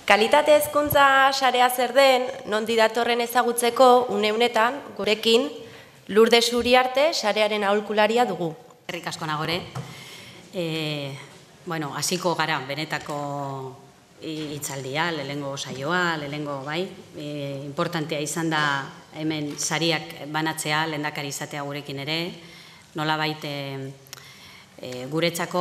Kalitate hezkuntza sarea zer den, nondi datorren ezagutzeko une-unetan, gurekin, Lourdes Uriarte sarearen aholkularia dugu. Herrik asko nagore. Hasiko gara benetako hitzaldia, lehengo saioa, lehengo importantea izan da hemen sariak banatzea, lehendakari izatea gurekin ere, nolabait guretzako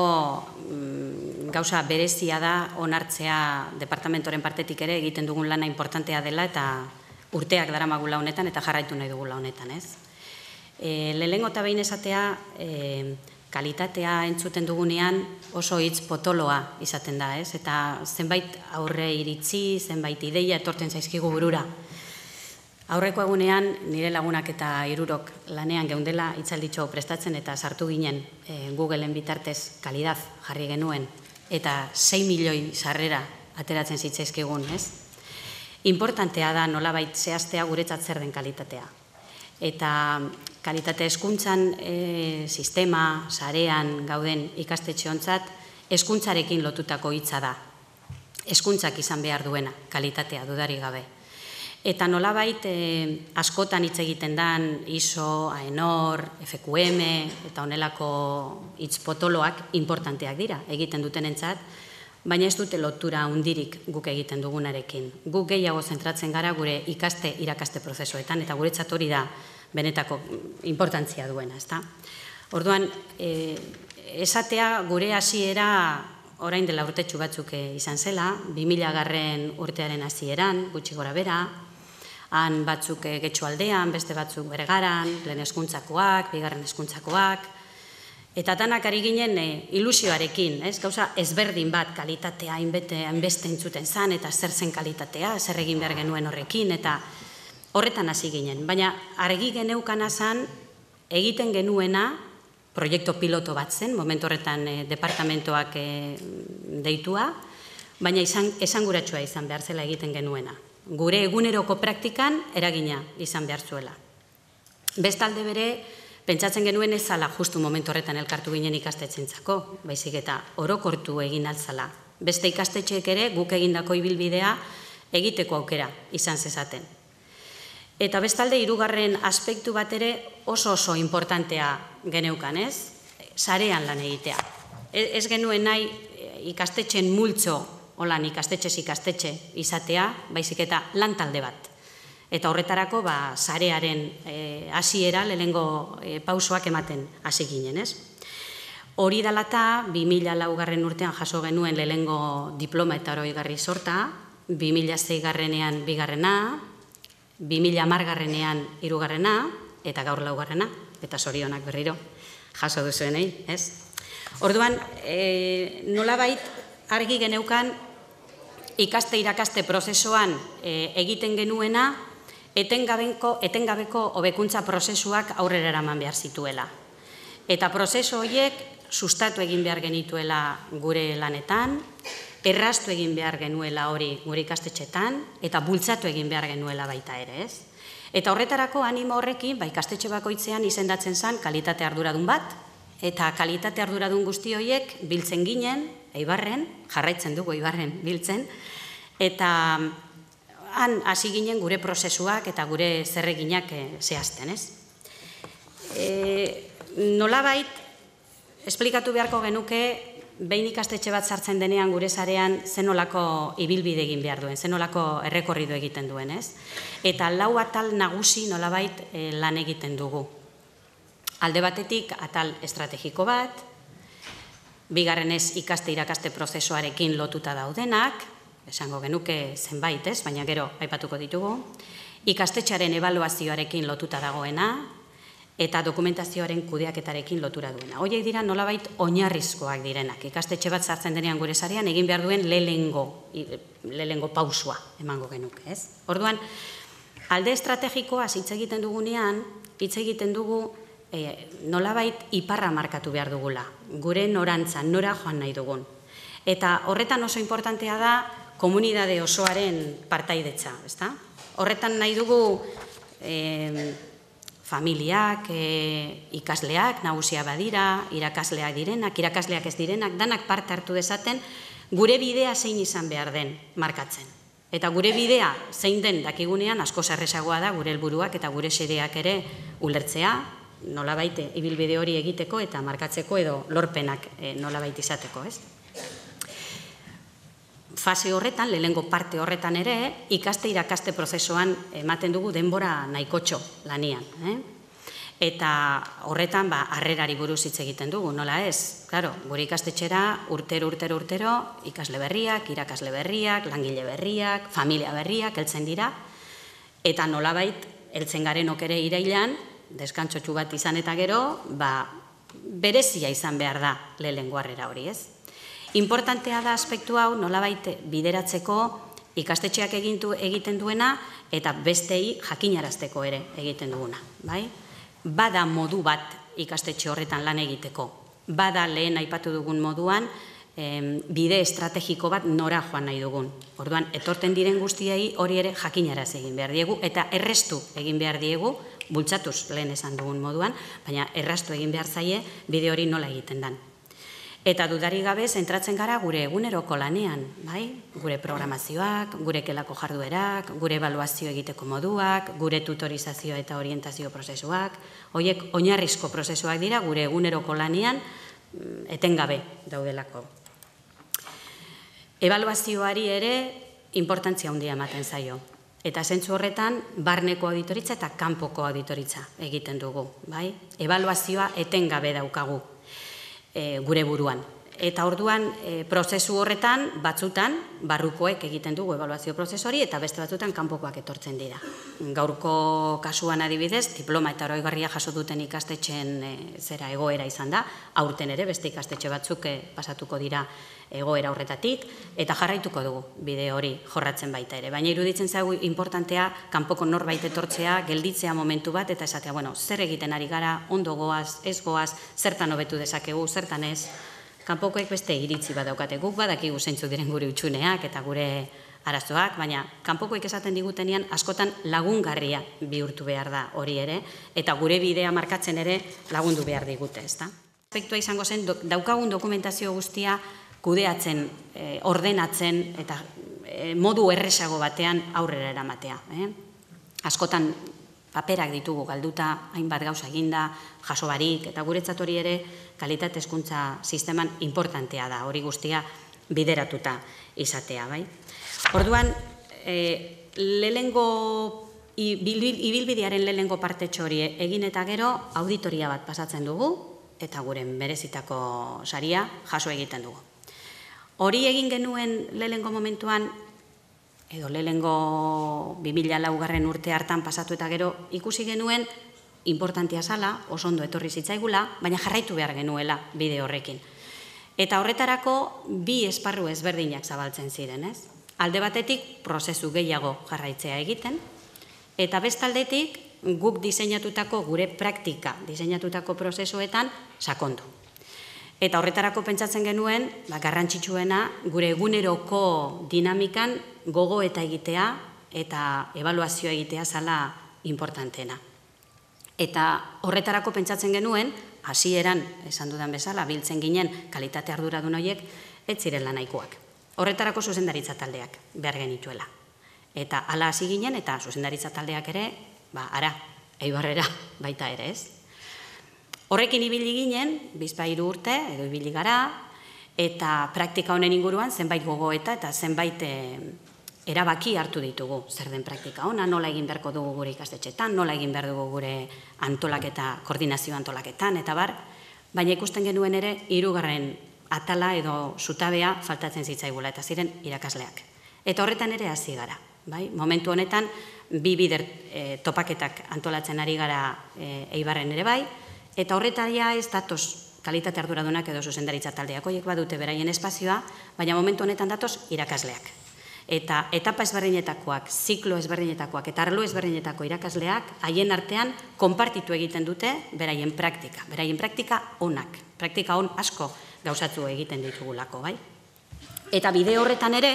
gauza berezia da onartzea departamentoren partetik ere egiten dugun lana importantea dela eta urteak daramagula honetan eta jarraitu nahi dugula honetan, ez? Lehengo eta behin esatea, kalitatea entzuten dugunean oso hitz potoloa izaten da, ez? Eta zenbait aurre iritzi, zenbait ideia etorten zaizkigu burura. Aurreko egunean nire lagunak eta hirurok lanean geundela hitzalditxo prestatzen eta sartu ginen Googleen bitartez kalidad jarri genuen eta 6 milioi sarrera ateratzen zitzaizkigun, ez? Importantea da nolabait zehaztea guretzat zer den kalitatea. Eta kalitate hezkuntzan sistema, sarean gauden ikastetxeontzat hezkuntzarekin lotutako hitza da. Hezkuntzak izan behar duena, kalitatea dudarik gabe. Eta nolabait askotan hitz egiten dan ISO, AENOR, FQM eta honelako hitz potoloak importanteak dira egiten dutenentzat, baina ez dute lotura hundirik guk egiten dugunarekin. Guk gehiago zentratzen gara gure ikaste-irakaste prozesuetan eta guretzat hori da benetako importantzia duena, ezta? Orduan, esatea gure hasiera orain dela urtetxu batzuk izan zela, 2000 urtearen hasieran, gutxi gora bera, han batzuk Getxoaldean, beste batzuk Bergaran, lehen hezkuntzakoak, bigarren hezkuntzakoak, eta danak ari ginen ilusioarekin, gauza ezberdin bat kalitatea hainbeste entzuten zan, eta zer zen kalitatea, zer egin behar genuen horrekin, eta horretan hasi ginen. Baina argi geneukana zan egiten genuena, proiektu piloto bat zen, momentu horretan departamentoak deitua, baina esanguratsua izan behar zela egiten genuena. Gure eguneroko praktikan eragina izan behar zuela. Bestalde bere, pentsatzen genuen ez zala justu momentu horretan elkartu ginen ikastetxentzako, baizik eta orokortu egin altzala. Beste ikastetxeek ere guk egindako ibilbidea egiteko aukera izan zezaten. Eta bestalde, hirugarren aspektu bat ere oso importantea geneukan, ez? Sarean lan egitea. Ez genuen nahi ikastetxen multzo, holan ikastetxez ikastetxe izatea, baizik eta lan talde bat. Eta horretarako sarearen hasiera lehenengo pausoak ematen hasi ginen, ez? Hori dela eta 2004 urtean jaso genuen lehenengo diploma eta oroigarri sorta, 2006 bigarrena, 2010 hirugarrena eta gaur laugarrena, eta zorionak berriro jaso duzuenei, ez? Orduan, nolabait argi geneukan ikaste-irakaste prozesuan egiten genuena etengabeko hobekuntza prozesuak aurrera eraman behar zituela. Eta prozesu horiek sustatu egin behar genituela gure lanetan, erraztu egin behar genuela hori gure ikastetxetan, eta bultzatu egin behar genuela baita ere, ez? Eta horretarako animo horrekin, ikastetxe bakoitzean izendatzen zen kalitate arduradun bat, eta kalitate arduradun guzti horiek biltzen ginen, Eibarren, jarraitzen dugu Eibarren biltzen, eta han hasi ginen gure prozesuak eta gure zerreginak zehazten, ez? Nolabait, esplikatu beharko genuke, behin ikastetxe bat sartzen denean gure sarean zenolako ibilbide egin behar duen, zenolako errekorrido egiten duen, ez? Eta 4 atal nagusi nolabait lan egiten dugu. Alde batetik atal estrategiko bat, bigarrenez ikaste-irakaste prozesuarekin lotuta daudenak, esango genuke zenbait, ez? Baina gero aipatuko ditugu, ikastetxearen ebaluazioarekin lotuta dagoena, eta dokumentazioaren kudeaketarekin lotura duena. Horiek dira nolabait oinarrizkoak direnak. Ikastetxe bat sartzen denean gure sarean egin behar duen lehenengo pausua emango genuke, ez? Orduan, alde estrategikoa hitz egiten dugunean, hitz egiten dugu nolabait iparra markatu behar dugula. Gure norantza, nora joan nahi dugun. Eta horretan oso importantea da komunitate osoaren partaidetza, ezta? Horretan nahi dugu familiak, ikasleak, nagusia badira, irakasleak direnak, irakasleak ez direnak, danak parte hartu dezaten gure bidea zein izan behar den markatzen. Eta gure bidea zein den dakigunean asko errazagoa da gure helburuak eta gure xedeak ere ulertzea, nolabait ibilbide hori egiteko eta markatzeko edo lorpenak nolabait izateko, ez? Fase horretan, lehenengo parte horretan ere, ikaste-irakaste prozesuan ematen dugu denbora nahikotxo lanian. Eta horretan, harrerari buruz hitz egiten dugu, nola ez? Claro, gure ikastetxera urtero, ikasle berriak, irakasle berriak, langile berriak, familia berriak, heltzen dira, eta nolabait, heltzen garenok ere irailan, deskantzotxu bat izan eta gero, berezia izan behar da lehenengo harrera hori, ez? Importantea da aspektu hau nolabait bideratzeko ikastetxeak egiten duena eta bestei jakinarazteko ere egiten duguna, bai? Bada modu bat ikastetxe horretan lan egiteko, bada lehen aipatu dugun moduan bide estrategiko bat nora joan nahi dugun. Orduan, etorten diren guztiei hori ere jakinaraz egin behar diegu eta errestu egin behar diegu, bultzatuz lehen esan dugun moduan, baina errastu egin behar zaie bide hori nola egiten dan. Eta dudari gabe zentratzen gara gure eguneroko lanean, bai? Gure programazioak, gure kelako jarduerak, gure ebaluazio egiteko moduak, gure tutorizazio eta orientazio prozesuak, horiek oinarrizko prozesuak dira gure eguneroko lanean etengabe daudelako. Ebaluazioari ere inportantzia handia ematen zaio. Eta zentzu horretan, barneko auditoritza eta kanpoko auditoritza egiten dugu, bai? Ebaluazioa etengabe daukagu gure buruan. Eta orduan, prozesu horretan, batzutan, barrukoek egiten dugu ebaluazio prozesu hori, eta beste batzutan kanpokoak etortzen dira. Gaurko kasuan adibidez, diploma eta oroigarria jaso duten ikastetxeen egoera izan da, aurten ere beste ikastetxe batzuk pasatuko dira egoera horretatik, eta jarraituko dugu bide hori jorratzen baita ere. Baina iruditzen zaigu importantea, kanpoko norbait etortzea, gelditzea momentu bat, eta esatea, zer egiten ari gara, ondo goaz, ez goaz, zertan hobetu dezakegu, zertan ez, kanpokoek beste iritzi bat daukate, guk badakigu zeintzuk diren gure hutsuneak eta gure arazoak, baina kanpokoek esaten digutenean askotan lagungarria bihurtu behar da hori ere, eta gure bidea markatzen ere lagundu behar digute, ezta? Aspektua izango zen, daukagun dokumentazio guztia kudeatzen, ordenatzen eta modu erresago batean aurrera eramatea. Askotan paperak ditugu galduta, hainbat gauza eginda, jaso barik, eta guretzat hori ere kalitate hezkuntza sisteman importantea da, hori guztia bideratuta izatea, bai? Orduan, ibilbidearen lehenengo partetxo hori egin eta gero auditoria bat pasatzen dugu, eta gure merezitako saria jaso egiten dugu. Hori egin genuen lehenengo momentuan, edo lehenengo 2004 urte hartan pasatu eta gero ikusi genuen importantia zala, oso ondo etorri zitzaigula, baina jarraitu behar genuela bide horrekin. Eta horretarako bi esparru ezberdinak zabaltzen ziren, ez? Alde batetik prozesu gehiago jarraitzea egiten, eta bestaldetik guk diseinatutako gure praktika, diseinatutako prozesuetan sakondu. Eta horretarako pentsatzen genuen, garrantzitsuena gure eguneroko dinamikan gogo eta egitea eta ebaluazioa egitea zala importantena. Eta horretarako pentsatzen genuen, hasieran esan dudan bezala, biltzen ginen kalitate arduradun horiek, ez zirela nahikoak. Horretarako zuzendaritza taldeak behar genituela. Eta hala hasi ginen eta zuzendaritza taldeak ere, Eibarrera baita ere, ez? Horrekin ibili ginen, 2-3 urte, edo ibili gara, eta praktika honen inguruan zenbait gogoeta eta zenbait erabaki hartu ditugu. Zer den praktika ona, nola egin beharko dugu gure ikastetxetan, nola egin behar dugu gure antolaketa, koordinazio antolaketan, eta bar, baina ikusten genuen ere, 3. atala edo zutabea faltatzen zitzaigula, eta ziren irakasleak. Eta horretan ere hasi gara. Momentu honetan, 2 bider topaketak antolatzen ari gara Eibarren ere bai, eta horretaria ez datoz kalitate arduradunak edo zuzendaritza taldeak, horiek badute beraien espazioa, baina momentu honetan datoz irakasleak. Eta etapa ezberdinetakoak, ziklo ezberdinetakoak eta arlo ezberdinetako irakasleak haien artean konpartitu egiten dute beraien praktika onak, praktika on asko gauzatu egiten ditugulako, bai? Eta bide horretan ere,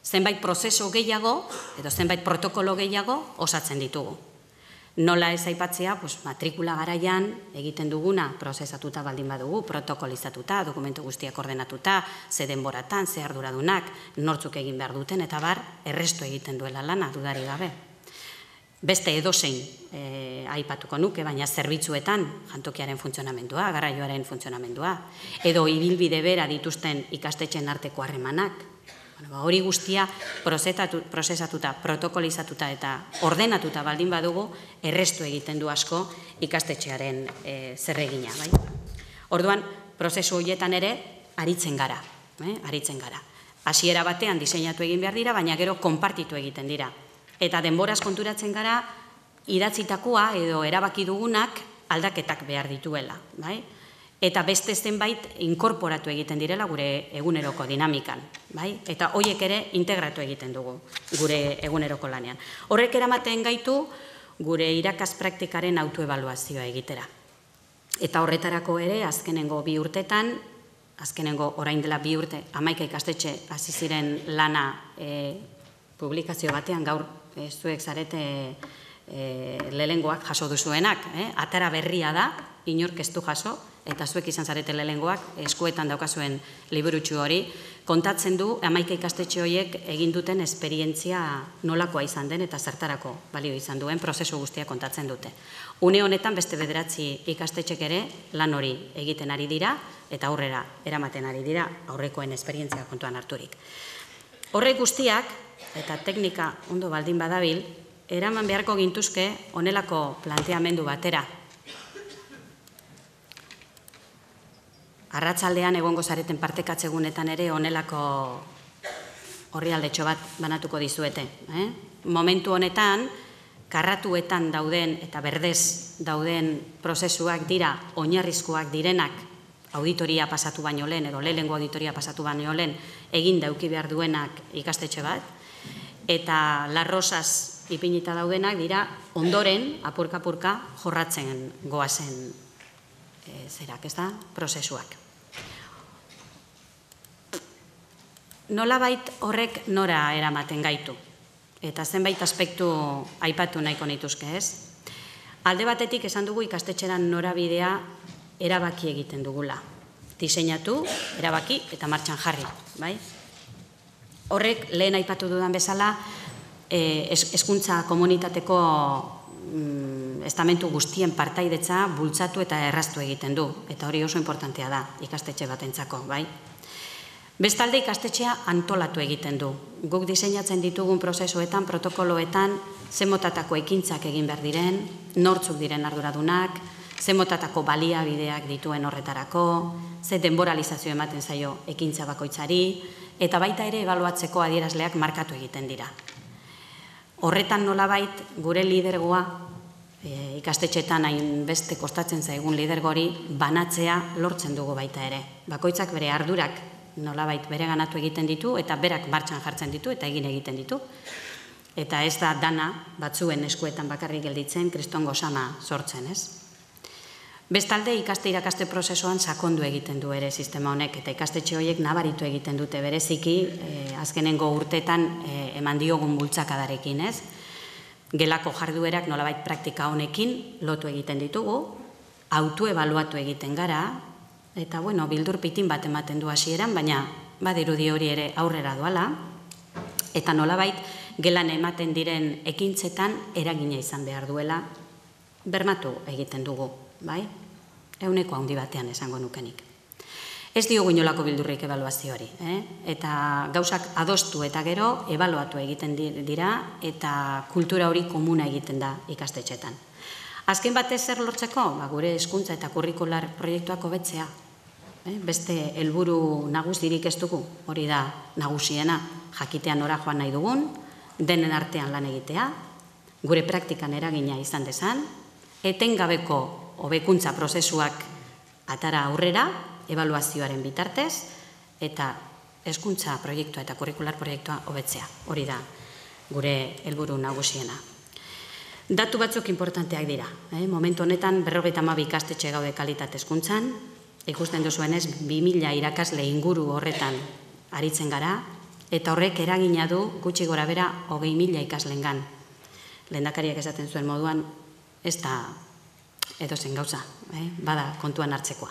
zenbait prozesu gehiago edo zenbait protokolo gehiago osatzen ditugu. Nola ez aipatzea, matrikula garaian egiten duguna prozesatuta baldin badugu, protokolizatuta, dokumentu guztiak ordenatuta, ze denboratan, ze arduradunak, nortzuk egin behar duten, eta bar, errestu egiten duela lana, dudari gabe. Beste edozein aipatuko nuke, baina zerbitzuetan jantokiaren funtzionamendua, garraioaren funtzionamendua, edo ibilbide bera dituzten ikastetxeen arteko harremanak. Hori guztia prozesatuta, protokolizatuta eta ordenatuta baldin badugu, errestu egiten du asko ikastetxearen zerregina. Orduan, prozesu horietan ere, aritzen gara. Hasiera batean diseinatu egin behar dira, baina gero konpartitu egiten dira. Eta denboraz konturatzen gara, idatzitakoa edo erabaki dugunak aldaketak behar dituela. Eta beste zenbait inkorporatu egiten direla gure eguneroko dinamikan. Eta horiek ere integratu egiten dugu gure eguneroko lanean. Horrek eramaten gaitu gure irakas praktikaren autoebaluazioa egitera. Eta horretarako ere, azkenengo 2 urtetan, azkenengo orain dela 2 urte, 11 ikastetxe hasi ziren lana publikazio batean, gaur zuek zarete lehengoak jaso duzuenak. Atara berria da, inork ez du jaso, eta zuek izan zarete lehengoak, eskuetan daukazuen liburutxu hori, kontatzen du 11 ikastetxe horiek egin duten esperientzia nolakoa izan den eta zertarako balio izan duen prozesu guztia kontatzen dute. Une honetan beste 9 ikastetxek ere lan hori egiten ari dira eta aurrera eramaten ari dira aurrekoen esperientzia kontuan harturik. Horrek guztiak, eta teknika ondo baldin badabil, eraman beharko gintuzke honelako planteamendu batera. Arratsaldean egongo zareten partekatzegunetan ere honelako orrialdetxo bat banatuko dizuete. Momentu honetan, karratuetan dauden eta berdez dauden prozesuak dira oinarrizkoak direnak auditoria pasatu baino lehen, edo lehengo auditoria pasatu baino lehen egin dauki behar duenak ikastetxe bat, eta larrosaz ipinita daudenak dira ondoren, apurka-apurka, jorratzen goazen prozesuak. Nolabait horrek nora eramaten gaitu, eta zenbait aspektu aipatu nahiko nituzke, ez? Alde batetik esan dugu ikastetxeran norabidea erabaki egiten dugula. Diseinatu, erabaki eta martxan jarri. Horrek lehen aipatu dudan bezala hezkuntza komunitateko estamentu guztien partaidetza bultzatu eta erraztu egiten du. Eta hori oso importantea da ikastetxe batentzako. Bestalde ikastetxea antolatu egiten du. Guk diseinatzen ditugun prozesuetan, protokoloetan, zemotatako ekintzak egin behar diren, nortzuk diren arduradunak, zemotatako baliabideak dituen horretarako, ze denboralizazio ematen zaio ekintza bakoitzari, eta baita ere ebaluatzeko adierazleak markatu egiten dira. Horretan nolabait gure lidergoa, ikastetxetan hainbeste kostatzen zaigun lidergori, banatzea lortzen dugu baita ere. Bakoitzak bere ardurak nolabait bere ganatu egiten ditu, eta berak martxan jartzen ditu, eta egin egiten ditu. Eta ez da dana batzuen eskuetan bakarrik gelditzen, kristongo sama sortzen, ez? Bestalde, ikaste-irakaste prozesuan sakondu egiten du ere sistema honek, eta ikastetxe horiek nabaritu egiten dute bereziki, azkenengo urtetan eman diogun bultzakadarekin, ez? Gelako jarduerak nolabait praktika honekin lotu egiten ditugu, autoebaluatu egiten gara, eta, bildur pitin bat ematen du hasieran, baina badirudi hori ere aurrera doala, eta nolabait gelan ematen diren ekintzetan eragina izan behar duela bermatu egiten dugu, bai? Euneko handi batean esango nukenik. Ez diogu inolako bildurrik ebaluazioari, eta gauzak adostu eta gero ebaluatu egiten dira eta kultura hori komuna egiten da ikastetxetan. Azken batez zer lortzeko, gure hezkuntza eta kurrikular proiektuak hobetzea. Beste helburu nagusirik ez dugu, hori da nagusiena, jakitean nora joan nahi dugun, denen artean lan egitea, gure praktikan eragina izan dezan, etengabeko hobekuntza prozesuak atara aurrera, ebaluazioaren bitartez, eta hezkuntza proiektua eta kurrikular proiektua hobetzea. Hori da gure helburu nagusiena. Datu batzuk importanteak dira. Momentu honetan 52 ikastetxe gaude kalitate hezkuntzan, ikusten duzuenez 2000 irakasle inguru horretan aritzen gara, eta horrek eragina du gutxi gora bera 20.000 ikaslengan. Lehendakariak esaten zuen moduan, ez da edozen gauza, bada kontuan hartzekoa.